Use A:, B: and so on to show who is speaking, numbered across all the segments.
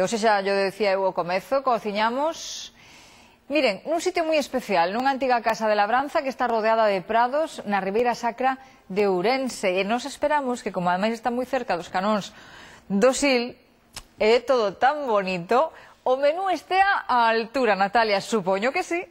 A: E hoxe xa yo decía eu ao comezo, cociñamos, miren, nun sitio moi especial, nunha antiga casa de labranza que está rodeada de prados na Ribeira Sacra de Ourense. E nos esperamos que, como ademais está moi cerca dos canóns do Sil, é todo tan bonito, o menú estea á altura, Natalia, supoño que sí.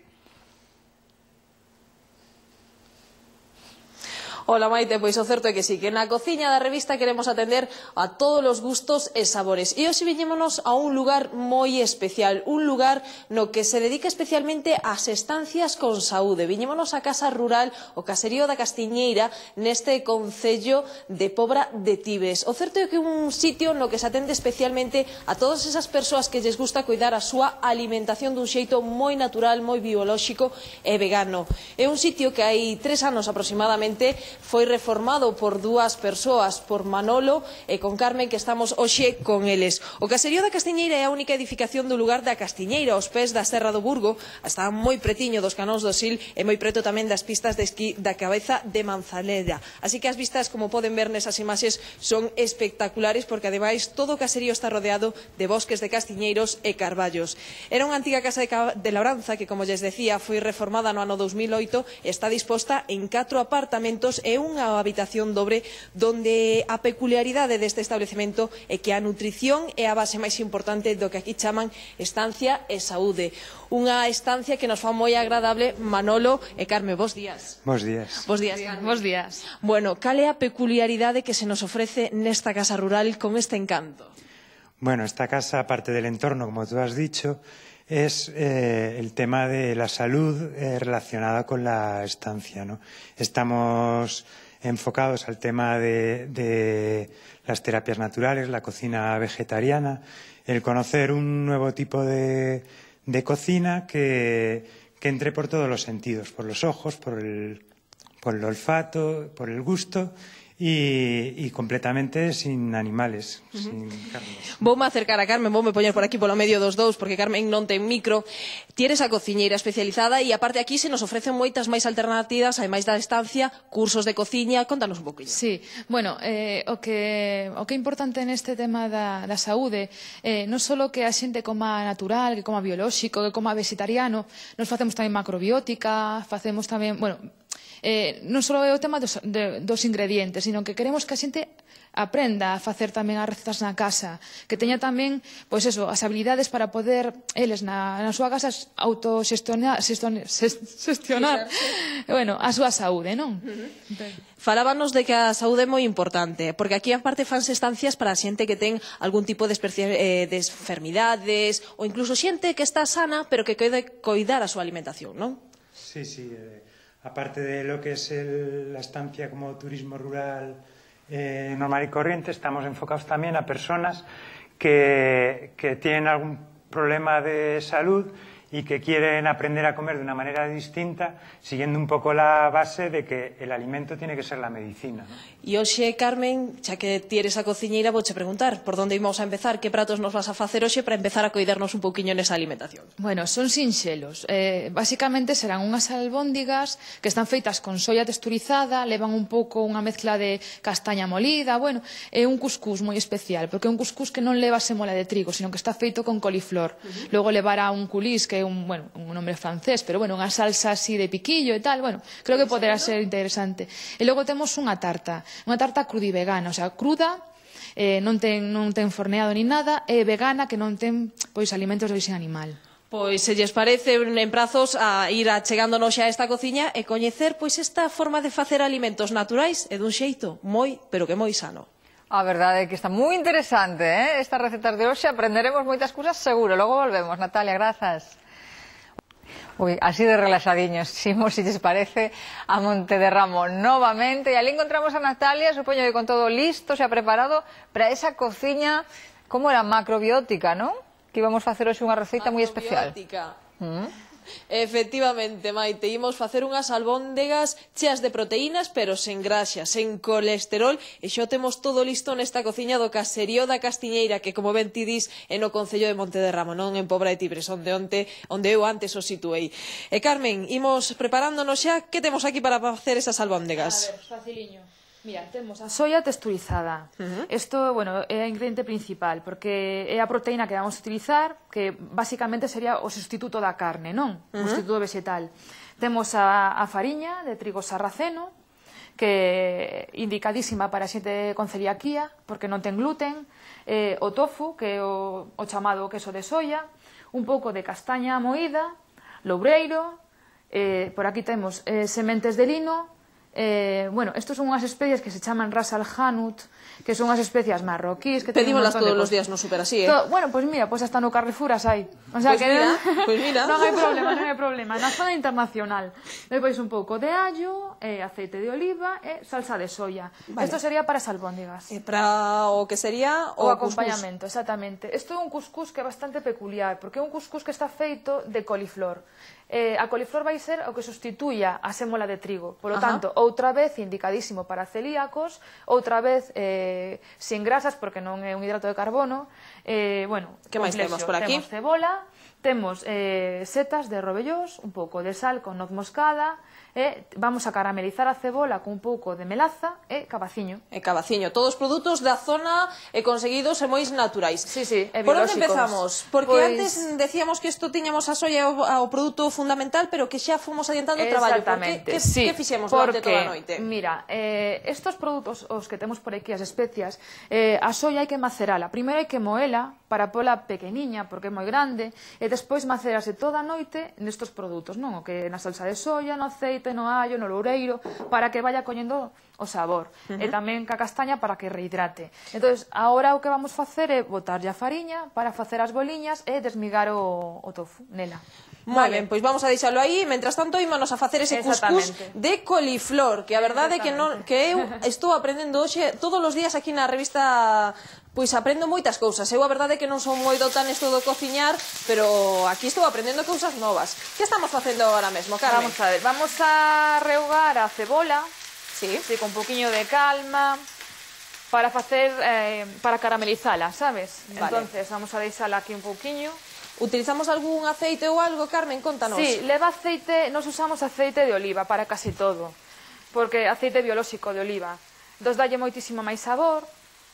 B: Ola Maite, pois o certo é que sí, que na cociña da revista queremos atender a todos os gustos e sabores. E hoxe viñémonos a un lugar moi especial, un lugar no que se dedica especialmente ás estancias con saúde. Viñémonos á casa rural, o caserío da Castiñeira, neste concello de Pobra de Tibes. O certo é que é un sitio no que se atende especialmente a todas esas persoas que lles gusta cuidar a súa alimentación dun xeito moi natural, moi biolóxico e vegano. É un sitio que hai 3 anos aproximadamente foi reformado por dúas persoas, por Manolo e con Carmen, que estamos hoxe con eles. O caserío da Castiñeira é a única edificación do lugar da Castiñeira, aos pés da Serra do Burgo, está moi pretiño dos canóns do Sil e moi preto tamén das pistas de esquí da Cabeza de Manzaneda. Así que as vistas, como poden ver nesas imaxes, son espectaculares porque ademais todo o caserío está rodeado de bosques de castiñeiros e carballos. Era unha antiga casa de labranza que, como lles decía, foi reformada no ano 2008 e está disposta en 4 apartamentos e unha habitación dobre, donde a peculiaridade deste establecemento é que a nutrición é a base máis importante do que aquí chaman estancia e saúde. Unha estancia que nos fa moi agradable. Manolo e Carme, bos días.
C: Bos días.
B: Bos días, Carme.
D: Bos días.
B: Bueno, cal é a peculiaridade que se nos ofrece nesta casa rural con este encanto?
C: Bueno, esta casa, aparte del entorno, como tú has dicho, es el tema de la salud relacionada con la estancia, ¿no? Estamos enfocados al tema de las terapias naturales, la cocina vegetariana, el conocer un nuevo tipo de cocina que entre por todos los sentidos, por los ojos, por el olfato, por el gusto. Y completamente sin animales, sin carnes.
B: Voume acercar a Carmen, voume poñer por aquí polo medio dos dous, porque Carmen non ten micro. Tienes a cociñeira especializada e aparte aquí se nos ofrecen moitas máis alternativas, ademais da estancia, cursos de cociña. Contanos un poquinho.
D: Sí, bueno, o que é importante neste tema da saúde, non só que a xente coma natural, que coma biolóxico, que coma vegetariano, nos facemos tamén macrobiótica, facemos tamén, bueno, non só é o tema dos ingredientes, sino que queremos que a xente aprenda a facer tamén as recetas na casa, que teña tamén, pois eso, as habilidades para poder eles na súa casa autoxestionar bueno, a súa saúde, non?
B: Falábanos de que a saúde é moi importante, porque aquí aparte fanse estancias para a xente que ten algún tipo de enfermidades ou incluso xente que está sana pero que quere coidar a súa alimentación, non?
C: Sí, sí. Aparte de lo que es la estancia como turismo rural normal y corriente, estamos enfocados también a personas que tienen algún problema de salud y que quieren aprender a comer de una manera distinta, siguiendo un poco la base de que el alimento tiene que ser la medicina, ¿no?
B: E hoxe, Carmen, xa que ti eres a cociñeira, vouche preguntar por onde imos a empezar, que pratos nos vas a facer hoxe para empezar a coidarnos un pouquiño nesa alimentación.
D: Bueno, son sinxelos. Basicamente serán unhas albóndigas que están feitas con soia texturizada, levan un pouco unha mezcla de castaña molida, bueno, é un cuscús moi especial, porque é un cuscús que non leva semola de trigo, sino que está feito con coliflor. Logo levará un culís, que é un nombre francés, pero bueno, unha salsa así de piquillo e tal, bueno, creo que poderá ser interesante. E logo temos unha tarta crudivegana, o sea, cruda, non ten forneado ni nada, e vegana, que non ten pois alimentos de orixe animal.
B: Pois se lles parece, en prazos a ir achegándonos xa a esta cociña e coñecer pois esta forma de facer alimentos naturais e dun xeito moi, pero que moi sano.
A: A verdade é que está moi interesante, estas recetas de hoxe, aprenderemos moitas cousas seguro. Logo volvemos, Natalia, grazas. Uy, así de relaxadiños, ximos, si lles parece, a Monte de Ramo novamente. E ali encontramos a Natalia, supoño que con todo listo, xa preparado para esa cociña, como era, macrobiótica, non? Que íbamos facer hoxe unha receita moi especial.
B: Efectivamente, Maite, imos facer unhas albóndegas cheas de proteínas, pero sen graxa, sen colesterol, e xa temos todo listo nesta cociña do caserío da Castiñeira, que, como ben ti dis, é no concello de Monte de Ramo, non en Pobra de Tibes, onde eu antes o situei. E Carmen, imos preparándonos xa, que temos aquí para facer esas albóndegas?
D: A ver, faciliño. Mira, temos a soia texturizada. Isto, bueno, é o ingrediente principal, porque é a proteína que vamos a utilizar, que basicamente sería o sustituto da carne, non? O sustituto vegetal. Temos a fariña de trigo sarraceno, que é indicadísima para xente con celiaquía, porque non ten gluten, o tofu, que é o chamado queso de soia, un pouco de castaña moída, loureiro, por aquí temos sementes de lino. Bueno, estos son unhas especias que se chaman ras al hanout, que son unhas especias marroquíes que
B: pedímolas todos os días no super así,
D: Bueno, pois mira, hasta no Carrefour as hai. O sea,
B: pues mira.
D: Non hai problema, non hai problema. Na zona internacional. Depois un pouco de allo, aceite de oliva e salsa de soia. Isto sería para as albóndigas.
B: Para o que sería
D: o acompañamento, exactamente. Isto é un cuscús que é bastante peculiar, porque é un cuscús que está feito de coliflor. A coliflor vai ser o que sustituya a sémola de trigo. Por lo tanto, outra vez indicadísimo para celíacos, outra vez sin grasas, porque non é un hidrato de carbono. Bueno,
B: que máis temos por aquí?
D: Temos cebola, temos setas de rovellós, un pouco de sal con noz moscada, vamos a caramelizar a cebola con un pouco de melaza e cabaciño.
B: Todos produtos da zona conseguidos e moi naturais.
D: Sí, é
B: Por onde
D: biolóxicos.
B: empezamos? Porque antes decíamos que isto tiñamos a soia o produto fundamental, pero que xa fomos adiantando o traballo.
D: Exactamente.
B: Que fixemos durante toda a noite?
D: Mira, estos produtos, os que temos por aquí, as especias, a soia hai que macerala. Primeiro hai que moela para pola pequeniña, porque é moi grande, e despois macerase toda a noite nestos produtos, non? O que na salsa de soia, no aceite, no allo, no loureiro, para que vaya coñendo o sabor. E tamén ca castaña para que rehidrate. Entón, agora o que vamos facer é botarlle a fariña para facer as boliñas e desmigar o tofu nela.
B: Moi ben, pois vamos a deixalo aí. Mentras tanto, ímonos a facer ese cuscús de coliflor, que a verdade é que eu estou aprendendo hoxe todos os días aquí na revista. Pois aprendo moitas cousas. Eu a verdade é que non son moi do tan esto do cociñar, pero aquí estou aprendendo cousas novas. Que estamos facendo agora mesmo, Carmen?
D: Vamos a ver, vamos a rehogar a cebola, con un poquinho de calma, para facer, para caramelizala, sabes? Entonces, vamos a deixala aquí un pouquiño.
B: Utilizamos algún aceite ou algo, Carmen? Contanos.
D: Sí, leva aceite, nos usamos aceite de oliva para casi todo, porque aceite biolóxico de oliva. Dos dalle moitísimo máis sabor.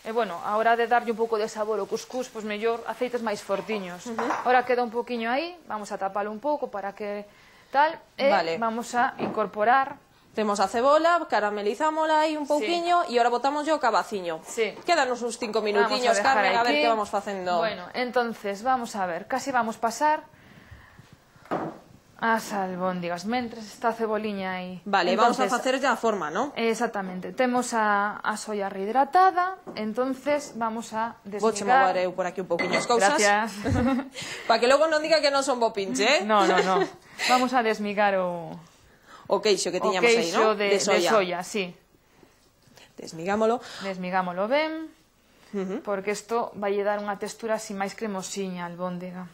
D: E, bueno, a hora de darlle un pouco de sabor ao cuscús, pois mellor aceites máis fortiños. Ahora queda un pouquiño aí, vamos a tapalo un pouco para que tal, e vamos a incorporar.
B: Temos a cebola, caramelizámola aí un pouquiño e ahora botamos o cabaciño. Quédanos uns 5 minutiños, Carmen, a ver que vamos facendo.
D: Bueno, entonces, vamos a ver, casi vamos pasar as albóndigas, mentres está a ceboliña aí.
B: Vale, vamos a facer ya a forma, non?
D: Exactamente, temos a soia rehidratada, entonces vamos a desmigar.
B: Vouche mover eu por aquí un pouquiño as cousas.
D: Gracias.
B: Para que logo non diga que non son bo pinche,
D: No. Vamos a desmigar
B: o queixo que tiñamos aí, non?
D: De soia, sí.
B: Desmigámolo.
D: Desmigámolo ben, porque isto vai dar unha textura así máis cremosiña, albóndiga.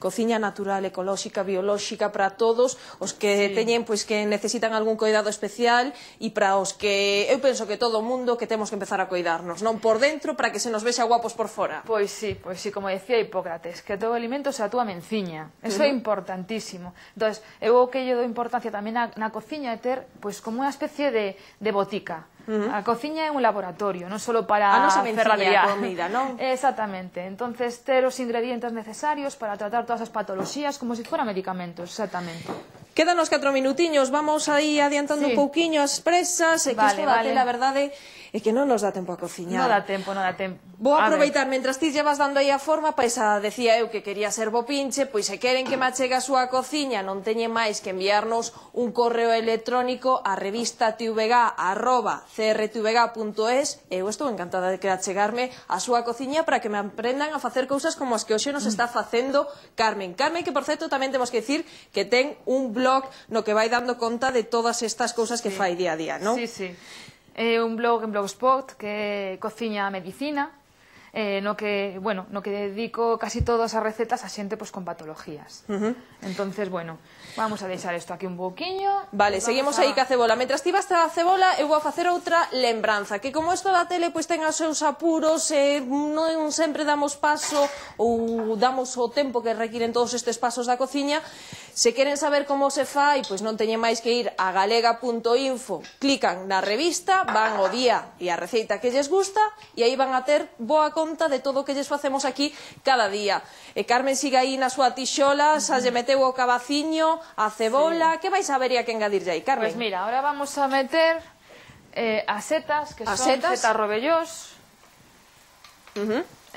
B: Cociña natural, ecolóxica, biolóxica para todos os que teñen, pois, que necesitan algún cuidado especial e para os que, eu penso que todo o mundo que temos que empezar a cuidarnos, non por dentro para que se nos vexa guapos por fora.
D: Pois sí, como decía Hipócrates, que todo alimento sea a túa menciña. Eso é importantísimo. Entón, eu o que lle dou importancia tamén na cociña é ter, pois, como unha especie de botica. A cociña é un laboratorio, non só para
B: ferradería. A comida, non?
D: Exactamente. Entonces, ter os ingredientes necesarios para tratar todas as patoloxías como se fueran medicamentos, exactamente.
B: Quédanos 4 minutiños, vamos aí adiantando un pouquiño as presas, e que isto da tela, a verdade é que non nos dá tempo a cociñar.
D: Non dá tempo.
B: Vou aproveitar, mentras ti llevas dando aí a forma, pois decía eu que quería ser bo pinche, pois se queren que me achegue a súa cociña, non teñen máis que enviarnos un correo electrónico a revistatvg@crtvg.es. Eu estou encantada de que achegarme a súa cociña para que me aprendan a facer cousas como as que hoxe nos está facendo Carmen. Carmen, que por certo tamén temos que dicir que ten un blog no que vai dando conta de todas estas cousas que fai día a día, non?
D: Sí. É un blog en Blogspot que é Cociña a Medicina. no que dedico casi todas as recetas a xente con patologías. Entonces, bueno, vamos a deixar isto aquí un pouquiño.
B: Vale, seguimos aí ca cebola. Mentras ti vas a cebola, eu vou a facer outra lembranza, que como isto da tele ten os seus apuros, non sempre damos paso ou damos o tempo que requiren todos estes pasos da cociña. Se queren saber como se fai, pois non teñen máis que ir a galega.info, clican na revista, van o día e a receita que lles gusta e aí van a ter boa conta de todo o que lles facemos aquí cada día. E Carmen siga aí na súa tixola, xa lle meteu o cabaciño, a cebola, que vais a ver e a que engadirlle aí, Carmen?
D: Pois mira, ahora vamos a meter as setas, que son setas robellós.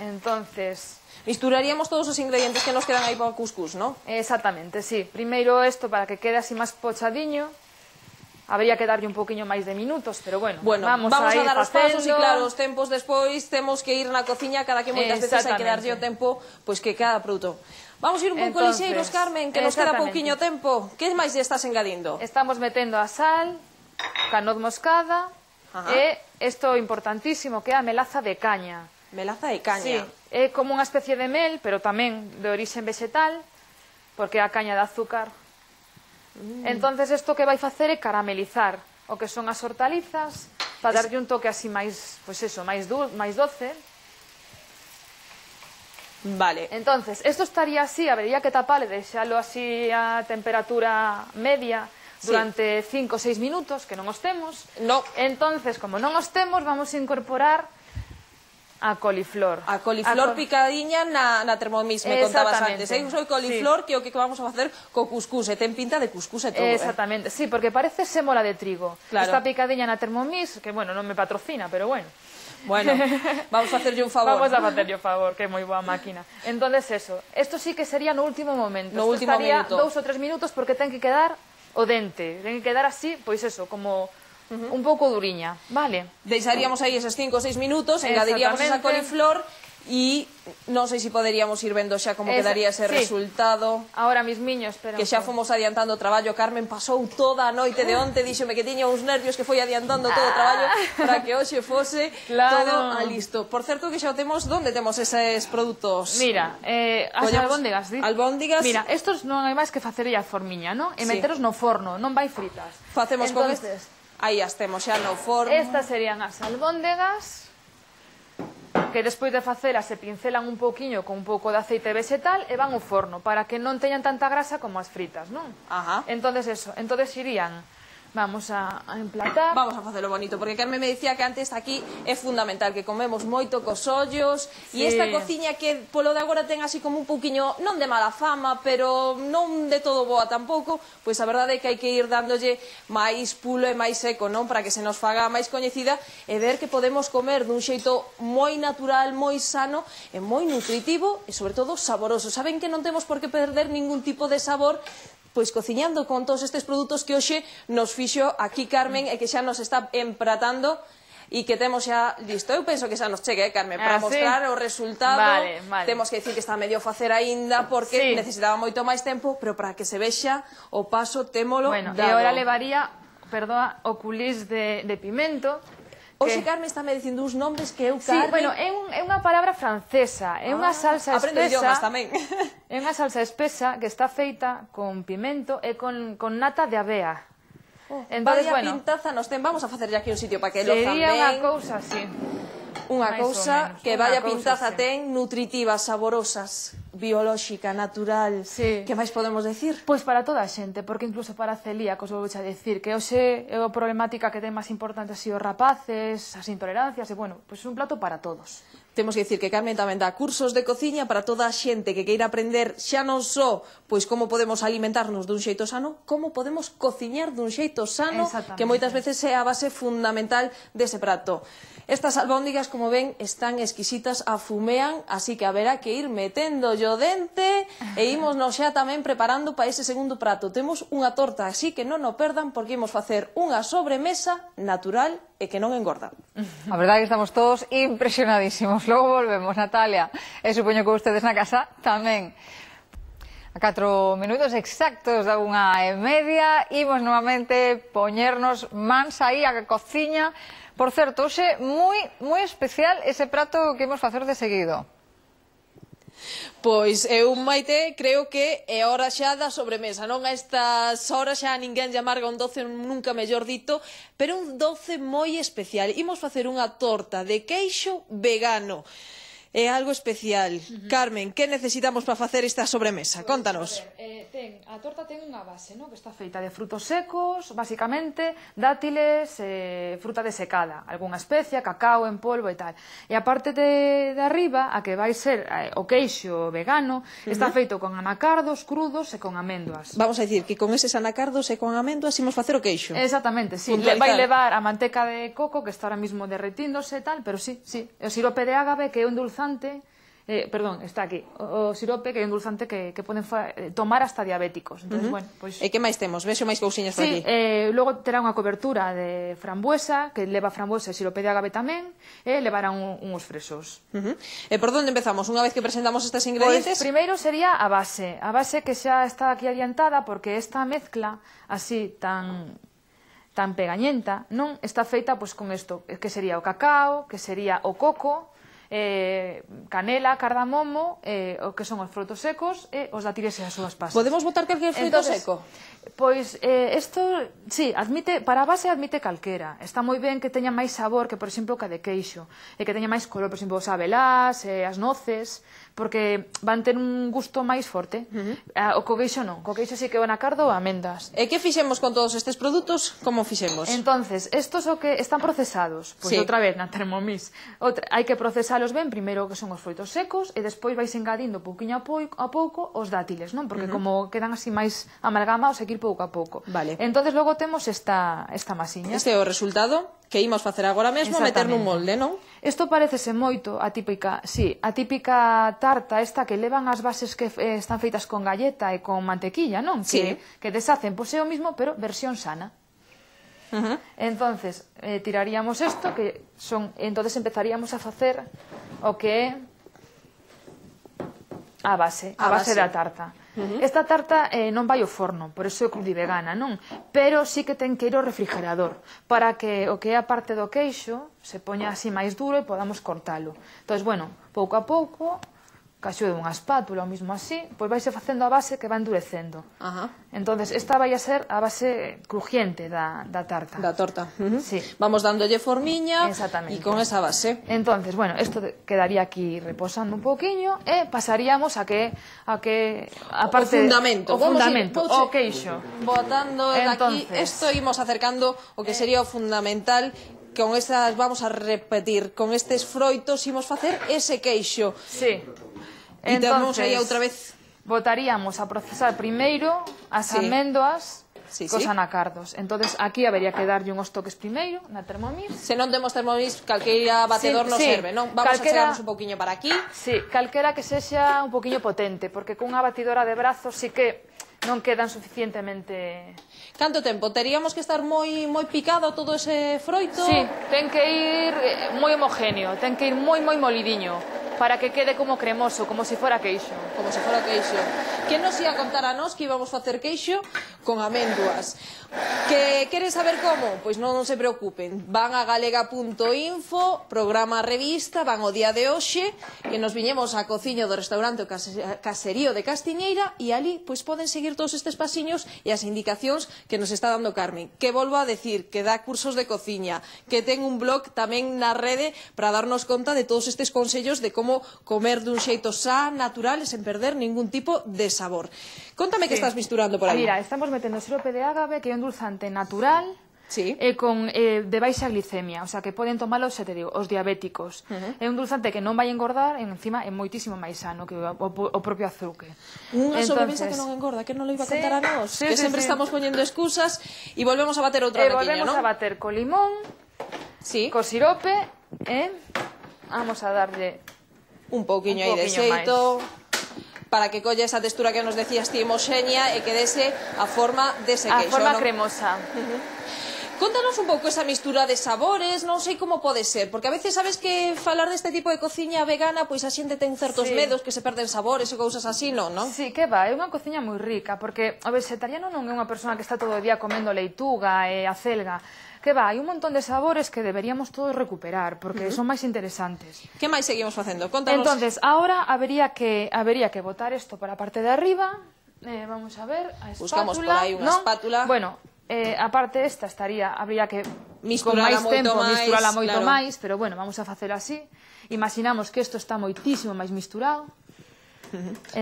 D: Entonces...
B: misturaríamos todos os ingredientes que nos quedan aí para o cuscús, non?
D: Exactamente, sí. Primeiro isto para que quede así máis pochadiño. Habría que darlle un poquinho máis de minutos, pero bueno, vamos a ir
B: dar os
D: facendo.
B: pasos e claro, os tempos despois temos que ir na cociña, cada que moitas veces hai que darlle o tempo pois que cada produto. Vamos ir un pouco lixeiros, Carmen, que nos queda pouquiño tempo. Que máis lle estás engadindo?
D: Estamos metendo a sal, canoz moscada e isto importantísimo que é a melaza de caña.
B: Melaza de caña.
D: Sí, é como unha especie de mel, pero tamén de orixen vegetal, porque é a caña de azúcar. Entonces isto que vai facer é caramelizar o que son as hortalizas para darlle un toque así máis, pois eso, máis doce.
B: Vale.
D: Entonces, isto estaría así, habería que taparle, deixalo así a temperatura media durante 5 ou 6 minutos, que non os temos.
B: No.
D: Entonces, como non os temos, vamos a incorporar a coliflor.
B: A coliflor picadiña na Thermomix, me contabas antes. Eu sou coliflor, que é o que vamos a facer co cuscús, e ten pinta de cuscús e todo.
D: Exactamente, sí, porque parece sémola de trigo. Esta picadiña na Thermomix, que, bueno, non me patrocina, pero bueno.
B: Bueno, vamos a hacerlle un favor.
D: Vamos a facerlle un favor, que é moi boa máquina. Entonces, eso, isto sí que sería no último momento.
B: No último minuto.
D: Estaría 2 ou 3 minutos porque ten que quedar o dente. Ten que quedar así, pois eso, como... un pouco duriña, vale?
B: Deixaríamos aí eses 5 ou 6 minutos, engadiríamos esa coliflor e non sei se poderíamos ir vendo xa como quedaría ese resultado.
D: Ahora mismiño, espera.
B: Que xa fomos adiantando o traballo. Carmen pasou toda a noite de onte, díxome que tiña uns nervios que foi adiantando todo o traballo para que hoxe fose todo a listo. Por certo que xa o temos, onde temos eses produtos?
D: Mira, as albóndigas, di?
B: Albóndigas.
D: Mira, estos non hai máis que facerlle a formiña, non? E meteros no forno, non vai fritas.
B: Facemos con estes. Aí as temos xa no forno.
D: Estas serían as albóndegas, que despois de facelas se pincelan un pouquiño con un pouco de aceite vegetal e van ao forno, para que non teñan tanta grasa como as fritas, non? Entonces eso, entonces irían... Vamos a emplatar.
B: Vamos a facelo bonito, porque Carmen me dicía que antes aquí é fundamental que comemos moito cos ollos, e esta cociña que polo de agora ten así como un pouquiño, non de mala fama, pero non de todo boa tampouco, pois a verdade é que hai que ir dándolle máis pulo e máis seco, non? Para que se nos faga máis coñecida e ver que podemos comer dun xeito moi natural, moi sano e moi nutritivo e sobre todo saboroso. Saben que non temos por que perder ningún tipo de sabor pois cociñando con todos estes produtos que hoxe nos fixo aquí Carmen e que xa nos está empratando e que temos xa listo. Eu penso que xa nos chegue, Carmen, para mostrar o resultado. Temos que dicir que está medio facer aínda porque necesitaba moito máis tempo, pero para que se vexa o paso témolo dado.
D: E agora levaría, perdón, o culís de pimento.
B: Oxe, Carmen, está me dicindo uns nombres que eu, Carmen...
D: Sí, bueno, é unha palabra francesa, é unha salsa espesa...
B: Aprendo idiomas tamén.
D: É unha salsa espesa que está feita con pimento e con nata de avea.
B: Vaya pintaza nos ten, vamos a facer aquí un sitio para que lo fan ben.
D: Sería unha cousa así.
B: Unha cousa que vaya pintaza ten, nutritivas, saborosas, biolóxica, natural. Que máis podemos decir?
D: Pois para toda a xente, porque incluso para celíacos vou a decir que hoxe é a problemática que ten máis importante así os rapaces, as intolerancias, e bueno, pois é un plato para todos.
B: Temos que dicir que Carmen tamén dá cursos de cociña para toda a xente que queira aprender xa non só pois como podemos alimentarnos dun xeito sano, como podemos cociñar dun xeito sano, que moitas veces é a base fundamental dese prato. Estas albóndigas, como ven, están exquisitas, afumean, así que haberá que ir metendo o dente e ímonos xa tamén preparando para ese segundo prato. Temos unha torta, así que non o perdan porque imos facer unha sobremesa natural e que non engorda.
A: A verdade é que estamos todos impresionadísimos. Logo volvemos, Natalia. E supoño que ustedes na casa tamén. A 4 minutos exactos da 1:30, imos novamente poñernos mans aí a cociña. Por certo, hoxe moi especial ese prato que imos facer de seguido.
B: Pois eu, Maite, creo que é hora xa da sobremesa, non? A estas horas xa ninguén lle amarga un doce, nunca mellor dito, pero un doce moi especial. Imos facer unha torta de queixo vegano. É algo especial. Carmen, que necesitamos para facer esta sobremesa? Contanos.
D: A torta ten unha base, que está feita de frutos secos, basicamente, dátiles, fruta desecada, algunha especia, cacao en polvo e tal. E a parte de arriba, a que vai ser o queixo vegano, está feito con anacardos crudos e con améndoas.
B: Vamos a dicir que con eses anacardos e con améndoas imos facer o queixo.
D: Exactamente, sí. Vai levar a manteca de coco, que está ahora mismo derretíndose e tal, pero sí. O sirope de ágave, que é un dulzante, está aquí, o sirope, que é un dulzante que poden tomar hasta diabéticos. Entonces, bueno, pois...
B: E que máis temos? Vexo máis cousiñas por aquí.
D: Logo terá unha cobertura de frambuesa, que leva frambuesa e sirope de ágave tamén, e levarán uns fresos.
B: E por onde empezamos? Unha vez que presentamos estes ingredientes?
D: Pois primeiro sería a base que xa está aquí adiantada, porque esta mezcla así tan pegañenta non está feita con isto, que sería o cacao, que sería o coco, canela, cardamomo, o que son os frutos secos e os dátiles e as súas pasas.
B: Podemos botar calquer fruto seco?
D: Pois isto, sí, para a base admite calquera. Está moi ben que teña máis sabor que, por exemplo, que a de queixo, e que teña máis color, por exemplo, os abelás, as noces, porque van ter un gusto máis forte. O co queixo non, co queixo sí que o anacardo ou amendas.
B: E que fixemos con todos estes produtos? Como fixemos?
D: Entonces, estos o que están procesados, pois outra vez na Thermomix, hai que procesalos ben, primeiro que son os froitos secos e despois vais engadindo pouquiño a pouco os dátiles, non? Porque como quedan así máis amalgamados, hai que ir pouco a pouco.
B: Vale.
D: Entonces logo temos esta masiña.
B: Este é o resultado que imos facer agora mesmo, meter nun molde, non?
D: Isto parecese moito a típica tarta esta que levan as bases que están feitas con galleta e con mantequilla, non?
B: Sí.
D: Que deshacen, pois é o mismo, pero versión sana. Entonces, tiraríamos isto, entonces empezaríamos a facer o que é a base da tarta. Esta tarta non vai ao forno, por iso é crudivegana, non? Pero sí que ten que ir ao refrigerador, para que o que é a parte do queixo se poña así máis duro e podamos cortalo. Entón, bueno, pouco a pouco, caixo de unha espátula, ou mismo así, pois vais facendo a base que va endurecendo. Entonces, esta vai a ser a base crujiente da tarta.
B: Da torta.
D: Sí.
B: Vamos dándolle formiña e
D: Exactamente.
B: con esa base.
D: Entonces, bueno, isto quedaría aquí reposando un poquinho e pasaríamos a parte
B: o fundamento,
D: o queixo.
B: Botando aquí, isto imos acercando o que sería o fundamental. Con estas vamos a repetir, con estes froitos imos facer ese queixo.
D: Sí.
B: E temos aí outra vez.
D: Botaríamos a procesar primeiro as améndoas cos anacardos. Entonces aquí habería que darlle uns toques primeiro na Thermomix.
B: Se non temos Thermomix, calqueira batedor nos serve, non? Vamos a chegarnos un poquinho para aquí.
D: Sí, calquera que sexa un poquinho potente, porque cunha batidora de brazos sí que non quedan suficientemente...
B: Canto tempo? Teríamos que estar moi picado todo ese froito?
D: Sí, ten que ir moi homogéneo, ten que ir moi molidiño, para que quede como cremoso, como se fora queixo.
B: Como se fora queixo. Que nos ia contar a nós que íbamos facer queixo con améndoas? Que queres saber como? Pois non se preocupen. Van a galega.info, programa revista, van o día de hoxe, que nos viñemos á cociña do restaurante o Caserío de Castiñeira, e ali pois poden seguir todos estes pasiños e as indicacións que nos está dando Carmen. Que volvo a decir, que dá cursos de cociña, que ten un blog tamén na rede para darnos conta de todos estes consellos de como comer dun xeito sa, natural e sen perder ningún tipo de sabor. Contame que estás misturando por aí.
D: Mira, estamos metendo sirope de ágave, que é un dulzante natural,
B: Sí.
D: De baixa glicemia, o sea, que poden tomalo, xa te digo, os diabéticos. É un dulzante que non vai engordar, e encima é moitísimo máis sano que o propio azuque.
B: Unha sobremesa que non engorda, que non lo iba a contar a nós, que sempre estamos poñendo excusas, e volvemos a bater outra raquiña, non?
D: Volvemos a bater co limón, co sirope, vamos a darlle
B: un pouquiño aí de xeito, para que colle esa textura que nos decías ti, homoxénea, e que dese a forma dese queixo.
D: A forma cremosa.
B: Contanos un pouco esa mistura de sabores, non sei como pode ser, porque a veces sabes que falar deste tipo de cociña vegana, pois a xente ten certos medos que se perden sabores e cousas así, non?
D: Sí, que va, é unha cociña moi rica, porque o vegetariano non é unha persona que está todo o día comendo leituga e acelga, que va, hai un montón de sabores que deberíamos todos recuperar, porque son máis interesantes.
B: Que máis seguimos facendo? Contanos.
D: Entonces, ahora habría que botar isto para a parte de arriba, vamos a ver, a espátula.
B: Buscamos por aí unha espátula.
D: Bueno, a parte esta habría que
B: misturala moito
D: máis, pero bueno, vamos a facelo así. Imaginamos que isto está moitísimo máis misturado.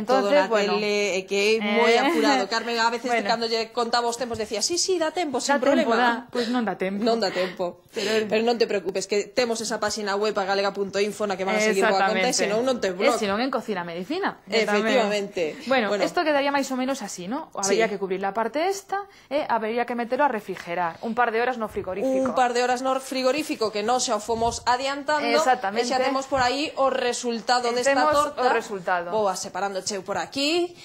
B: Todo na tele, que é moi apurado. Carmen, a veces cando lle contaba os tempos decía, sí, dá tempo, sin problema.
D: Pois non dá tempo.
B: Non dá tempo. Pero non te preocupes, que temos esa página web a galega.info na que van a seguir boa conta, e senón non te blog.
D: E senón en Cocina Medicina.
B: Efectivamente.
D: Bueno, isto quedaría máis ou menos así, ¿no? Habría que cubrir la parte esta e habría que metelo a refrigerar un par de horas no frigorífico.
B: Un par de horas no frigorífico que non xa o fomos adiantando.
D: Exactamente.
B: E xa temos por aí o resultado desta torta.
D: Temos o resultado.
B: Boa, separando cheu por aquí.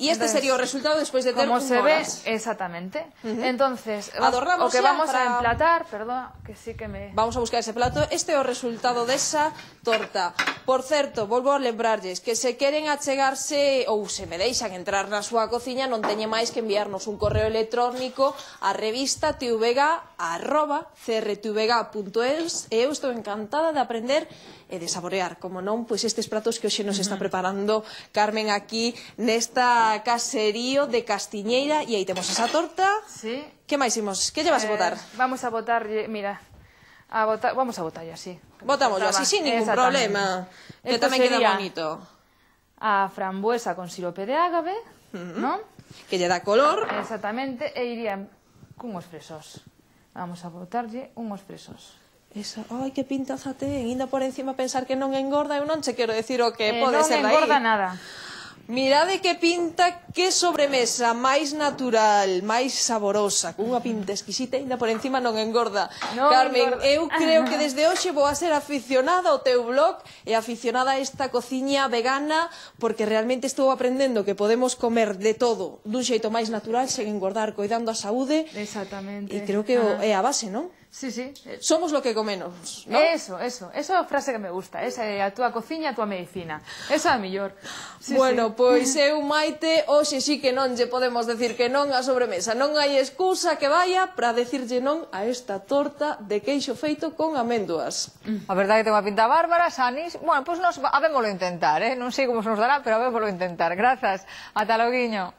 B: E este sería o resultado despois de ter
D: como se ve, exactamente. Entonces, o que vamos a emplatar, perdón, que sí que me...
B: Vamos a buscar ese plato. Este é o resultado desa torta. Por certo, volvo a lembrarlles que se queren achegarse ou se me deixan entrar na súa cociña, non teñe máis que enviarnos un correo electrónico a revista tvega@crtvega.es e eu estou encantada de aprender e de saborear, como non, pois estes pratos que hoxe nos está preparando Carmen aquí nesta caserío de Castiñeira, e aí temos esa torta.
D: Sí.
B: Que máis imos? Que lle vas a botar?
D: Vamos a botar, mira, vamos a botar así.
B: Botámoslo así, sin ningún problema. Que tamén queda bonito.
D: A frambuesa con sirope de ágave, non?
B: Que lle dá color.
D: Exactamente, e irían cunhos fresos. Vamos a botarlle unhos fresos.
B: Esa, ai, que pintaza ten, ainda por encima pensar que non engorda, eu non che quero decir o que pode ser dai.
D: Non engorda nada.
B: Mirade que pinta, que sobremesa máis natural, máis saborosa, con unha pinta exquisita, ainda por encima non engorda. Carmen, eu creo que desde hoxe vou a ser aficionada ao teu blog e aficionada a esta cociña vegana, porque realmente estou aprendendo que podemos comer de todo dun xeito máis natural, sen engordar, coidando a saúde.
D: Exactamente.
B: E creo que é a base, non?
D: Sí, sí.
B: Somos lo que comemos, ¿no?
D: Eso é a frase que me gusta. Esa é a túa cociña, a túa medicina. Esa é a mellor. Sí,
B: bueno, pois eu, Maite, hoxe sí que non lle podemos decir que non á sobremesa. Non hai excusa que vaya para decirlle non a esta torta de queixo feito con améndoas.
A: A verdade que ten unha pinta bárbara, Sanis. Bueno, pois habémolo intentar, non sei como se nos dará, pero habémolo intentar. Grazas. Ata loguiño.